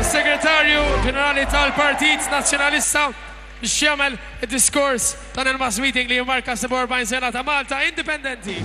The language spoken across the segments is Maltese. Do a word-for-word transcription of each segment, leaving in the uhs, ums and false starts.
Segretarju Ġenerali tal-Partit Nazzjonalista biex jagħmel id-diskors dan il-mass meeting li jimmarka sebgħa u erbgħin sena ta' Malta Indipendenti.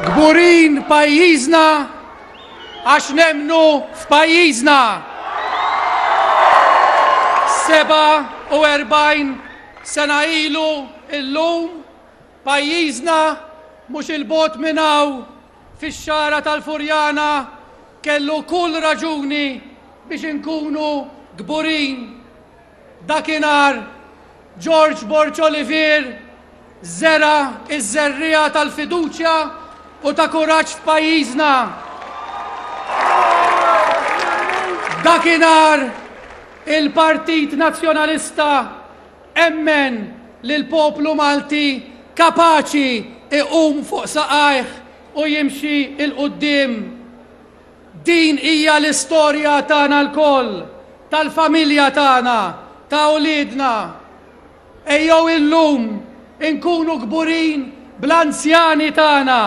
Kburin pajjiżna għax nemmnu f'pajjiżna. Sebgħa u erbgħin sena ilu illum pajjiżna mhux 'il bogħod minn hawn fix-Xagħra tal-Furjana kellu kull raġuni biex inkunu kburin. Dakinhar George Borg Olivier żera' iż-żerriegħa tal-fiduċja u ta' kuraġġ f'pajjiżna. Dakinhar il-Partit Nazzjonalista emmen li l-poplu Malti kapaċi iqum fuq saqajh u jimxi 'l quddiem. Din hija l-istorja tagħna lkoll, tal-familja tagħna, ta' uliedna. Ejjew illum inkunu kburin bl-anzjani tagħna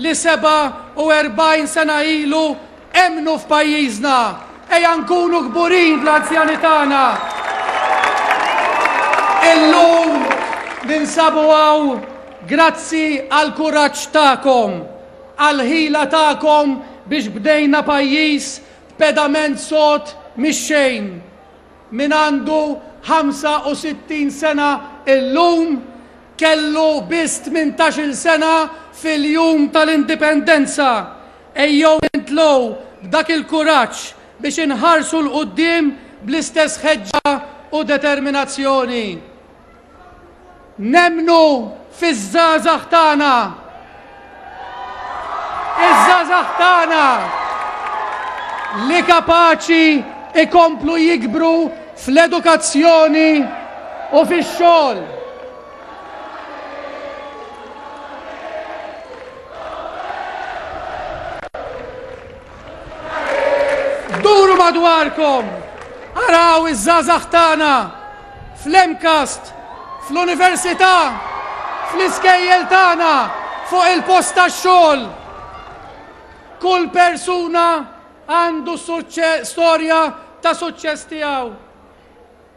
li sebgħa u erbgħin sena ilu emmnu f'pajjiżna. Ejja nkunu kburin bl-anzjani tagħna. Illum ninsabu hawn grazzi għal kuraġġ tagħkom, għal ħila tagħkom biex bdejna pajjiż b'pedament sod mix-xejn. Min għandu ħamsa u sittin sena illum kellu biss tmintax-il sena fil-jum tal-indipendenza. Ejjew nimtlew b'dak il-kuraġġ biex inħarsu 'l quddiem bl-istess ħeġġa u determinazzjoni. Nemmnu fiż-żgħażagħ tagħna. Iż-żgħażagħ tagħna li kapaċi ikomplu jikbru fl-edukazzjoni u fix-xogħol. Duru madwarkom, araw iż-żgħażagħ tagħna fl-MCAST, fl-università, fl-iskejjel tagħna, fuq il-post tax-xogħol. Kull persuna għandu storja ta' suċċess tiegħu.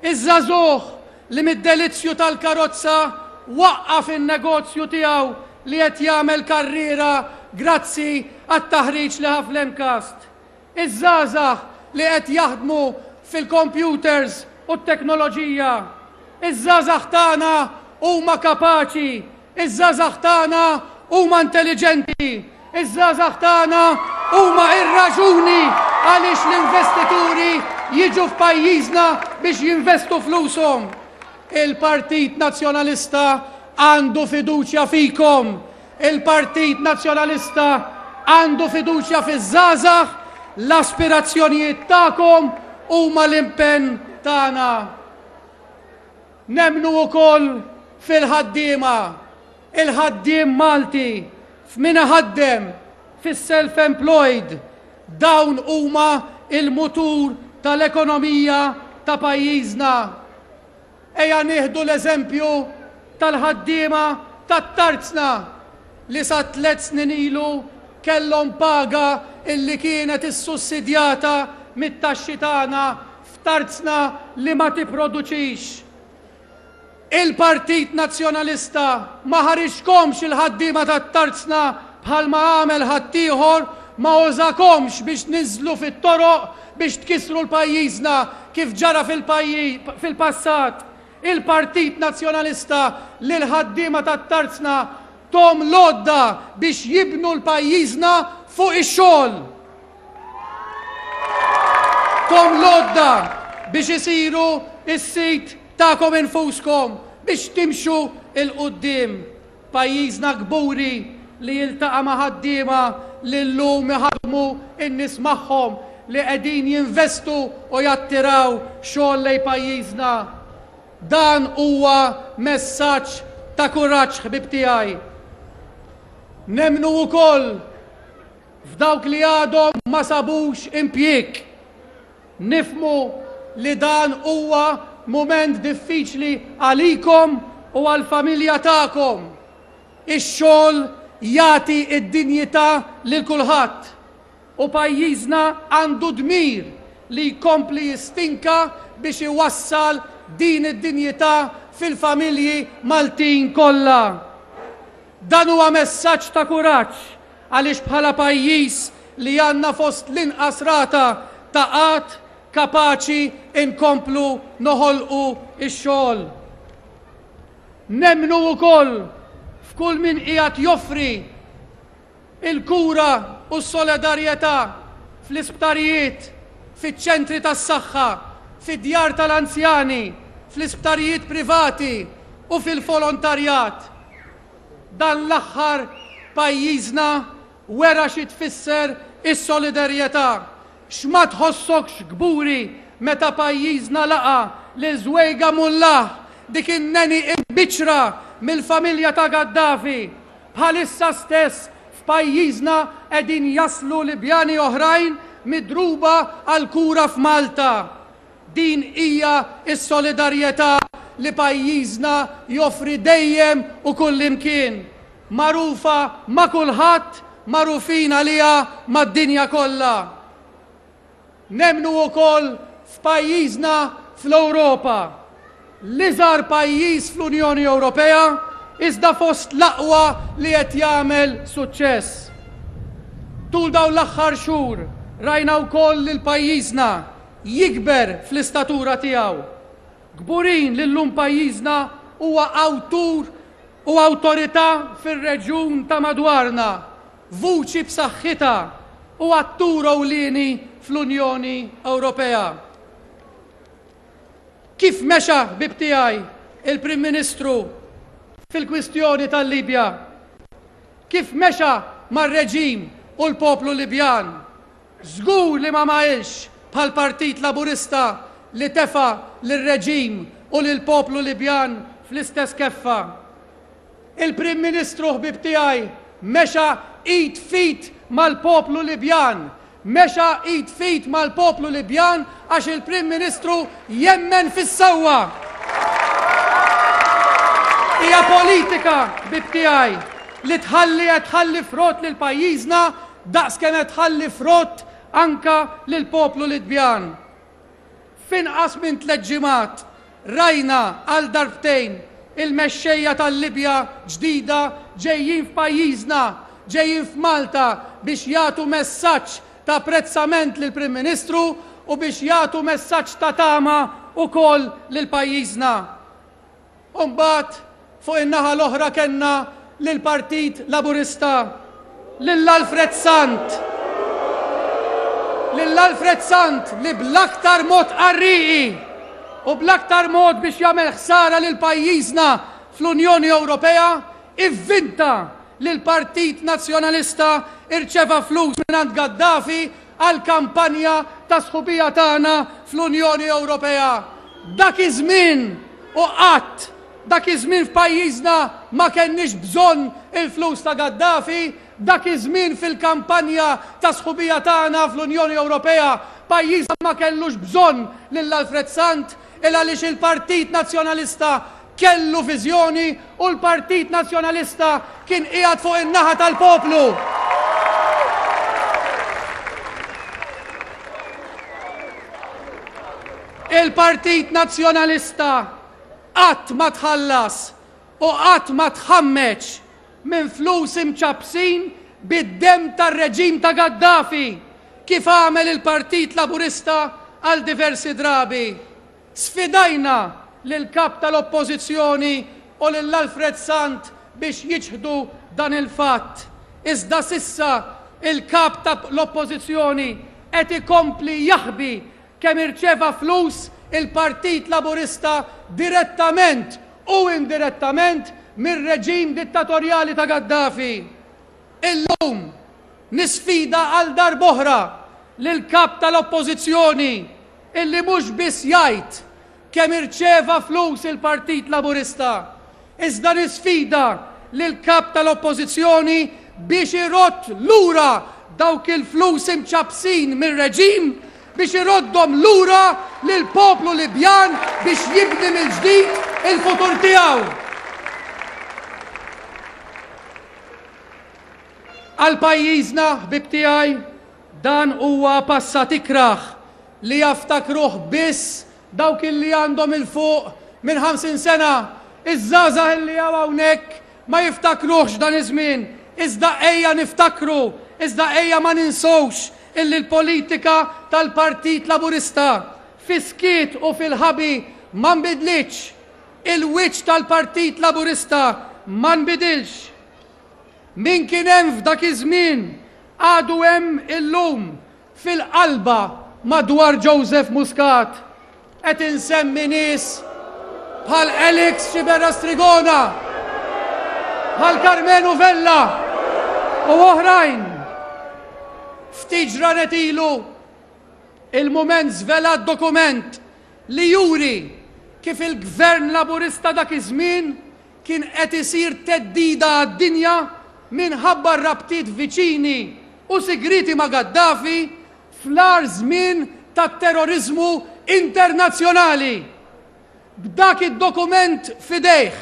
Iż-żagħżugħ li mid-delizzju tal-karozza waqqaf in-negozju tiegħu li qed jagħmel karriera grazzi għat-taħriġ li ħa fl-MCAST. Iż-żgħażagħ li qed jaħdmu fil-computers u t-teknoloġija. Iż-żgħażagħ tagħna huma kapaċi, iż-żgħażagħ tagħna huma intelligenti, iż-żgħażagħ tagħna huma ir-raġuni għaliex l-investituri jiġu f'pajjiżna biex jinvestu flushom. Il-Partit Nazzjonalista għandu fiduċja fikom. Il-Partit Nazzjonalista għandu fiduċja fiż-żgħażagħ, l-aspirazzjonijiet tagħkom huma l-impenn tagħna. Nemmnu wkoll fil-ħaddiema, il-ħaddiem Malti, f'min iħaddem, fis-self-employed, dawn huma il-mutur tal-ekonomija ta' pajjiżna. Ejja nieħdu l-eżempju tal-ħaddiema tat-tarzna li sa tliet snin ilu kellhom paga illi kienet issussidjata mit-taxxi tagħna f'tarzna li ma tipproduċix. Il-Partit Nazzjonalista ma ħariġkomx il-ħaddiema tat-tarzna bħalma għamel ħaddieħor, ma użakomx biex niżlu fit-toroq biex tkissru l-pajjiżna kif ġara fil-passat. Il-Partit Nazzjonalista lil ħaddiema tat-tarzna tom l-għodda biex jibnu l-pajjiżna fuq ix-xogħol. Tom l-għodda biex isiru s-sit tagħkom infuskom biex timxu il-qudiem. Pajjiżna kburi li jiltaqa' ma' ħaddiema li llum iħaddmu n-nies magħhom li qegħdin jinvestu u jattiraw xogħol lejn pajjiżna. Dan huwa messaġġ ta' kuraġġ, ħbib tiegħi. Nemmnu wkoll f'dawk li għadhom ma sabux impjieg. Nifhmu li dan huwa mument diffiċli għalikom u għall-familja tagħkom. Ix-xogħol jagħti d-dinjità lil kulħadd u pajjiżna għandu dmir li jkompli jistinka biex iwassal din id-dinjità fil-familji Maltin kollha. Dan huwa messaġġ ta' kuraġġ għaliex bħala pajjiż li għandna fost l-inqas rata ta' qatt kapaċi inkomplu noħolqu x-xogħol. Nemmnu wkoll f'kull min qiegħed joffri il-kura u s-solidarjetà fl-isptarijiet, fiċ-ċentri tas-saħħa, fid-djar tal-anzjani, fl-isptarijiet privati u fil-volontarjat. Dan l-aħħar pajjiżna wera xi tfisser is-solidarjetà. X'ma tħossokx kburi meta pajjiżna laqa lil Żwejga Mullah, dik in-neni imbiċra mill-familja ta' Gaddafi. Bħalissa stess f'pajjiżna qegħdin jaslu Libjani oħrajn midruba għal kura f'Malta. Din hija s-solidarjetà li pajjiżna joffri dejjem u kullimkien. Magħrufa ma' kulħadd, magħrufin għaliha mad-dinja kollha. Nemmnu wkoll f'pajjiżna fl-Ewropa. L-iżgħar pajjiż fl-Unjoni Ewropea iżda fost l-aqwa li qed jagħmel suċċess. Tul dawn l-aħħar xhur rajna wkoll lil pajjiżna jikber fl-istatura tiegħu. Kburin li llum pajjiżna huwa awtur u awtorità fir-reġjun ta' madwarna, vuċi b'saħħitha u attur ewlieni fl-Unjoni Ewropea. Kif mexa, ħbib tiegħi, il-Prim Ministru fil-kwistjoni tal-Libja? Kif mexa mar-reġim u l-poplu Libjan? Żgur li ma mailx bħal-Partit Laburista li tefa lir-reġim u lill-poplu Libjan fl-istess keffa. Il-Prim Ministru, ħbib tiegħi, mexa id f'id mal-poplu Libjan. Mexa id f'id mal-poplu Libjan għax il-Prim Ministru jemmen fis-sewwa. Hija politika, ħbib tiegħi, li tħalli qed tħalli frott lil pajjiżna daqs kemm qed tħalli frott anka lil poplu Libjan. F'inqas minn tliet ġimgħat rajna għal darbtejn il-mexxejja tal-Libja ġdida ġejjin f'pajjiżna, ġejjin f'Malta biex jagħtu messaġġ ta' apprezzament lill-Prim Ministru u biex jagħtu messaġġ ta' tama wkoll lil pajjiżna. U mbagħad fuq in-naħa l-oħra kellna lill-Partit Laburista, lil Alfred Sant. lil Alfred Sant li bl-aktar mod qarrieqi u bl-aktar mod biex jagħmel ħsara lil pajjiżna fl-Unjoni Ewropea ivvinta li l-Partit Nazzjonalista irċeva flus mingħand Gaddafi għal kampanja ta' sħubija tagħna fl-Unjoni Ewropea. Dak iż-żmien u qatt dak iż-żmien f'pajjiżna ma kenniex bżonn il-flus ta' Gaddafi, dak iż-żmien fil-kampanja ta' sħubija tagħna fl-Unjoni Ewropea pajjiżna ma kellux bżonn lil Alfred Sant il għaliex il-Partit Nazzjonalista kellu viżjoni u l-Partit Nazzjonalista kien qiegħed fuq in-naħa tal-poplu. Il-Partit Nazzjonalista qatt ma tħallas u qatt ma tħammeġ minn flus imċappsin bid-demm tar-reġim ta' Gaddafi kif għamel il-Partit Laburista għal diversi drabi. Sfidajna lill-kap tal-Oppożizzjoni u lil Alfred Sant biex jiċħdu dan il-fatt. Iżda sissa il-kap tal-Oppożizzjoni qed ikompli jaħbi kemm irċeva flus il-Partit Laburista direttament u indirettament mir-reġim dittatorjali ta' Gaddafi. Illum nisfida għal darb'oħra lil kap tal-Oppożizzjoni illi mhux biss jgħid kemm irċeva flus il-Partit Laburista, iżda nisfida lil kap tal-Oppożizzjoni biex irodd lura dawk il-flus imċappsin mir-reġim, biex iroddhom lura lil poplu Libjan biex jibni mill-ġdid il-futur tiegħu. Għal pajjiżna, ħbib tiegħi, dan huwa passat ikrah li jaftakruh biss dawk illi għandhom il-fuq minn ħamsin sena. Iż-żgħażagħ illi hawn hawnhekk ma jiftakruhx dan iż-żmien, iżda ejja niftakru, iżda ejja ma ninsewx illi l-politika tal-Partit Laburista fis-skiet u fil-ħabi ma nbidlitx. Il-wiċċ tal-Partit Laburista ma nbidilx. Min kien hemm f'dak iż-żmien għadu hemm illum fil-qalba madwar Joseph Muscat. Qed insemmi nies bħal Alex Sciberras Trigona, bħal Karmenu Vella u oħrajn. Ftit ġranet ilu il-Mument żvelat dokument li juri kif il-Gvern Laburista dak iż-żmien kien qed isir theddida għad-dinja minħabba r-rabtiet viċini u sigriti ma' Gaddafi fl-agħar żmien tat-terrorizmu internazzjonali. B'dak id-dokument f'idejh,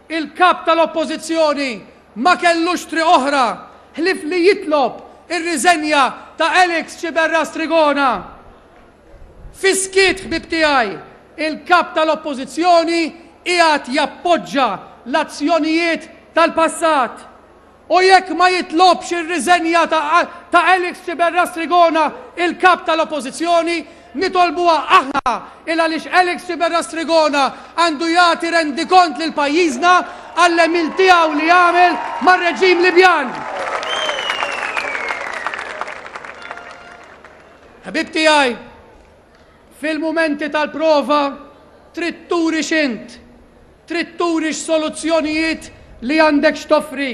il-kap tal-Oppożizzjoni ma kellux triq oħra ħlief li jitlob ir-riżenja ta' Alex Sciberras Trigona. Fis-skiet, ħbib tiegħi, il-kap tal-Oppożizzjoni qiegħed jappoġġa l-azzjonijiet tal-passat. U jekk ma jitlobx ir-riżenja ta', ta Alex Sciberras Trigona, il-kap tal-Oppożizzjoni, nitolbuha aħna il għaliex Alex Sciberras Trigona għandu jagħti rendikont lil pajjiżna għall-għemil tiegħu li jagħmel mar-reġim Libjan. Ħbib tiegħi, fil-mumenti tal-prova trid turi x'int, trid turi x'soluzzjonijiet li għandek x'toffri.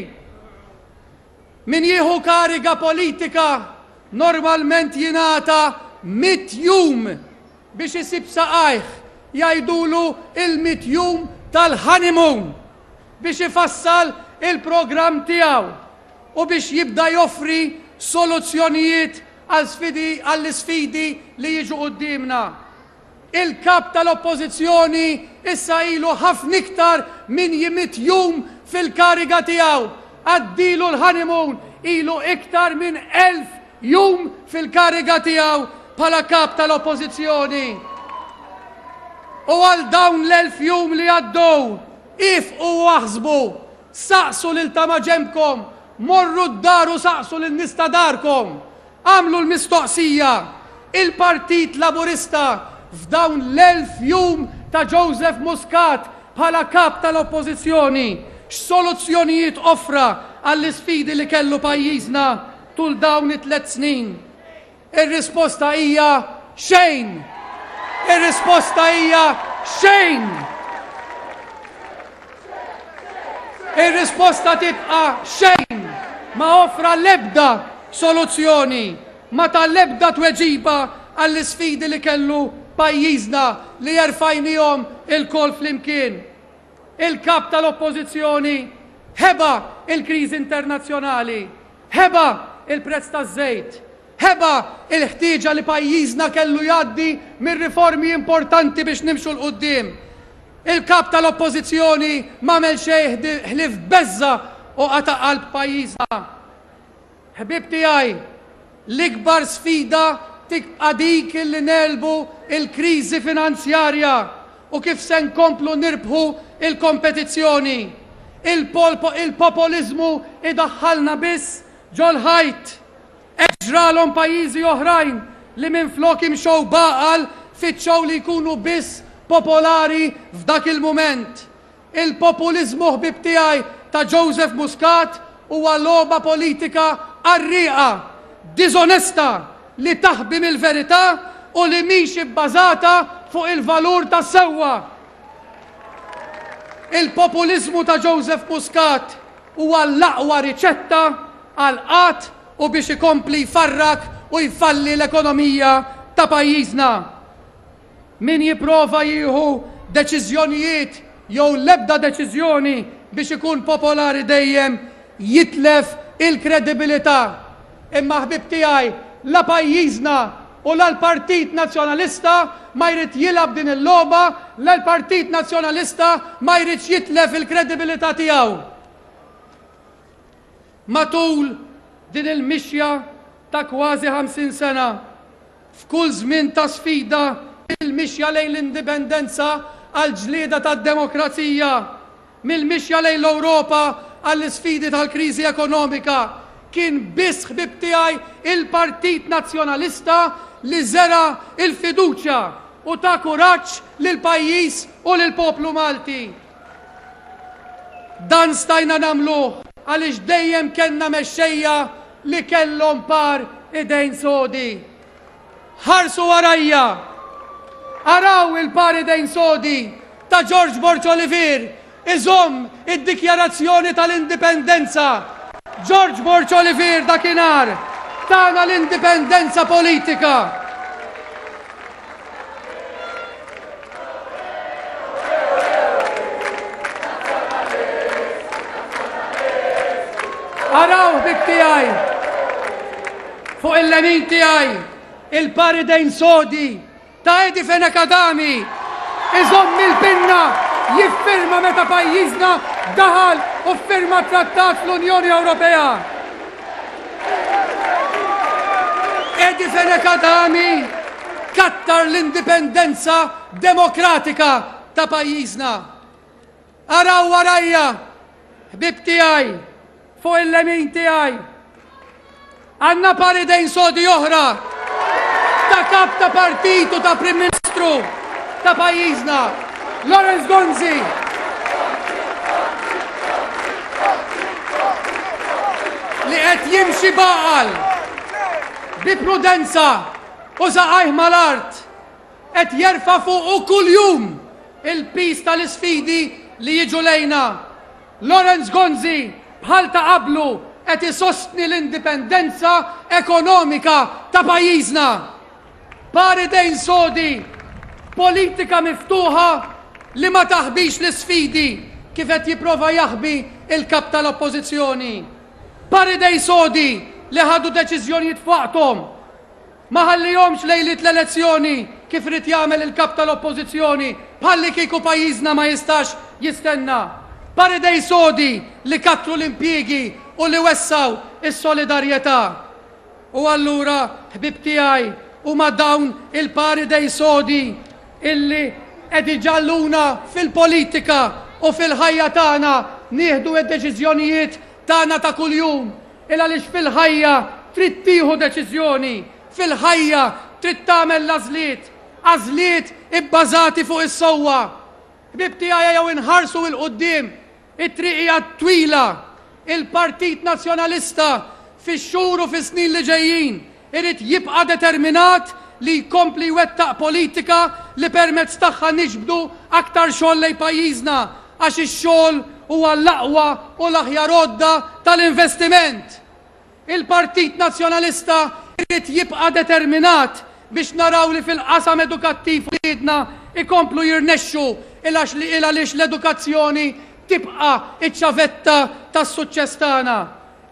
Min jieħu kariga politika normalment jingħata mitt jum biex isib saqajh, jgħidulu il-mitt jum tal-honeymoon biex ifassal il-programm tiegħu u biex jibda joffri soluzzjonijiet għal sfidi, għall-isfidi li jiġu quddiemna. Il-kap tal-Oppożizzjoni issa ilu ħafna iktar minn mitt jum fil-kariga tiegħu. Għaddilu l-honeymoon ilu iktar minn elf jum fil-kariga tiegħu bħala kap tal-Oppożizzjoni. U għal dawn l-elf jum li għaddew, ifqu u aħsbu, saqsu lil ta' maġenbkom, morru d-dar u saqsu lil nies ta' darkom. Għamlu l-mistoqsija, il-Partit Laburista f'dawn l-elf jum ta' Joseph Muscat bħala kap tal-Oppożizzjoni, x'soluzzjonijiet offra għall-isfidi li kellu pajjiżna tul dawn it-tliet snin. Ir-risposta hija xejn. Ir-risposta hija xejn. Ir-risposta tibqa' xejn. Ma offra l-ebda soluzzjoni, ma ta l-ebda tweġiba għall-isfidi li kellu pajjiżna li jerfajnihom ilkoll flimkien. Il-kap tal-oppożizzjoni ħeba il-kriżi internazzjonali, ħeba il-prezz taż-żejt, ħeba il-ħtieġa li pajjiżna kellu jgħaddi mir-riformi importanti biex nimxu 'l quddiem. Il-kap tal-oppożizzjoni m'għamel xejn ħlief beżza u qata' qalb pajjiżna. Ħbieb tiegħi, l-ikbar sfida tibqa' dik li nelbu il-kriżi finanzjarja u kif se nkomplu nirbħu il-kompetizzjoni. Il-populiżmu idaħħalna biss ġol-ħajt. Ġralhom pajjiżi oħrajn li minflok imxew b'għaqal fittxew li jkunu biss popolari f'dak il-mument. Il-populiżmu, ħbib tiegħi, ta' Joseph Muscat huwa logħba politika qarrieqa, diżonesta, li taħbi mill-verità u li mhix ibbażata fuq il-valur tas-sewwa. Il-populiżmu ta' Joseph Muscat huwa l-aqwa riċetta għal qatt u biex ikompli jfarrak u jfalli l-ekonomija ta' pajjiżna. Min jipprova jieħu deċiżjonijiet jew l-ebda deċiżjoni biex ikun popolari dejjem jitlef il-kredibilità. Imma ħbib tiegħi, la pajjiżna u la l-Partit Nazzjonalista ma jrid jilgħab din il-logħba, la l-Partit Nazzjonalista ma jridx jitlef il-kredibilità tiegħu. Matul din il-mixja ta' kważi ħamsin sena, f'kull żmien ta' sfida, il-mixja lejn l-indipendenza għal-ġlieda tad-demokrazija, mill-mixja lejn l-Ewropa għall-isfidi tal-kriżi ekonomika, kien biss, ħbib tiegħi, il-Partit Nazzjonalista li żera il-fiduċja u ta kuraġġ lil pajjiż u lil poplu Malti. Dan stajna nagħmluh għaliex dejjem kellna mexxejja li kellhom par idejn sodi. Ħarsu warajja, araw il-par idejn sodi ta' George Borg Olivier iżomm id-dikjarazzjoni tal-indipendenza. George Borg Olivier dakinhar tana l-indipendenza politika. Araw ħbib tiegħi, fuq il-lemin tiegħi, il-par idejn sodi ta' Eddie Fenech Adami iżomm il-pinna jiffirma meta pajjiżna daħal u ffirma trattat fl-Unjoni Ewropea. Eddie Fenech Adami kattar l-indipendenza demokratika ta' pajjiżna. Araw warajja, ħbib tiegħi, fuq il-lemin tiegħi, għandna par idejn sodi oħra ta' kap ta' partit u ta' Prim Ministru ta' pajjiżna, Lawrence Gonzi. Li qed jimxi b'għaqal, bi prudenza u saqajh mal-art, qed jerfa' fuqu kuljum il-pis tal-isfidi li jiġu lejna. Lawrence Gonzi bħal ta' qablu qed isostni l-indipendenza ekonomika ta' pajjiżna. Par idejn sodi, politika miftuħa li ma taħbix l-isfidi kif qed jipprova jaħbi il-kap tal-oppożizzjoni. Par idejn sodi li ħadu deċiżjonijiet f'waqthom, ma ħallihomx lejliet l-elezzjoni kif irid jagħmel il-kap tal-oppożizzjoni bħalli kieku pajjiżna ma jistax jistenna. Par idejn sodi li kattru l-impjiegi u li wessaw is-solidarjetà. U allura, ħbib tiegħi, huma dawn il-par idejn sodi illi qed iġalluna fil-politika u fil-ħajja tagħna nieħdu d-deċiżjonijiet tagħna ta' kuljum. Il għaliex fil-ħajja trid tieħu deċiżjoni, fil-ħajja trid tagħmel l-għażliet, għażliet ibbażati fuq is-sewwa. Ħbib tiegħi, jew inħarsu 'l quddiem, it-triq hija twila. Il-Partit Nazzjonalista fix-xhur u fis-snin li ġejjin irid jibqa' determinat li jkompli jwettaq politika li permezz tagħha niġbdu aktar xogħol lejn pajjiżna, għax ix-xogħol huwa l-aqwa u l-aħjar għodda tal-investiment. Il-Partit Nazzjonalista irid jibqa' determinat biex naraw li fil-qasam edukattiv uliedna ikomplu jirnexxu, il għaliex l-edukazzjoni tibqa' iċ-ċavetta tas-suċċess tagħna.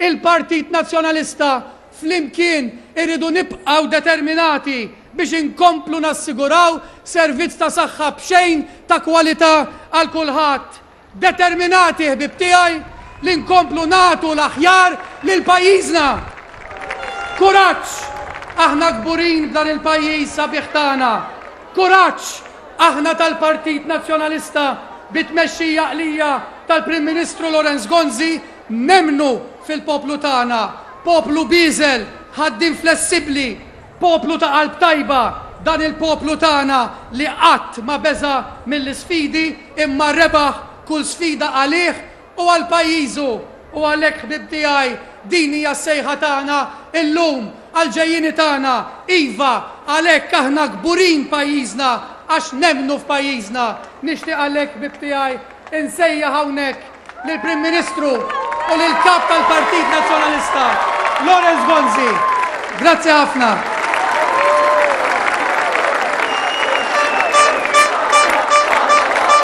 Il-Partit Nazzjonalista flimkien irridu nibqgħu determinati biex inkomplu nassiguraw servizz ta' saħħa b'xejn ta' kwalità għal kulħadd. Determinati, ħbib tiegħi, li nkomplu nagħtu l-aħjar lil pajjiżna. Kuraġġ! Aħna kburin b'dan il-pajjiż sabiħ tagħna. Kuraġġ! Aħna tal-Partit Nazzjonalista bit-tmexxija għaqlija tal-Prim Ministru Lawrence Gonzi nemmnu fil-poplu tagħna. Poplu bieżel, ħaddiem flessibbli, poplu ta' qalb tajba, dan il-poplu tagħna li qatt ma beża mill-isfidi imma rebaħ kull sfida għalih u għal pajjiżu. U għalhekk, ħbib tiegħi, din hija s-sejħa tagħna illum għal-ġejjini tagħna. Iva, għalhekk aħna kburin pajjiżna għax nemmnu f'pajjiżna. Nixtieq għalhekk, ħbib tiegħi, insejjaħ hawnhekk lill-Prim Ministru u lill-Kap tal-Partit Nazzjonalista, Lawrence Gonzi. Grazzi ħafna.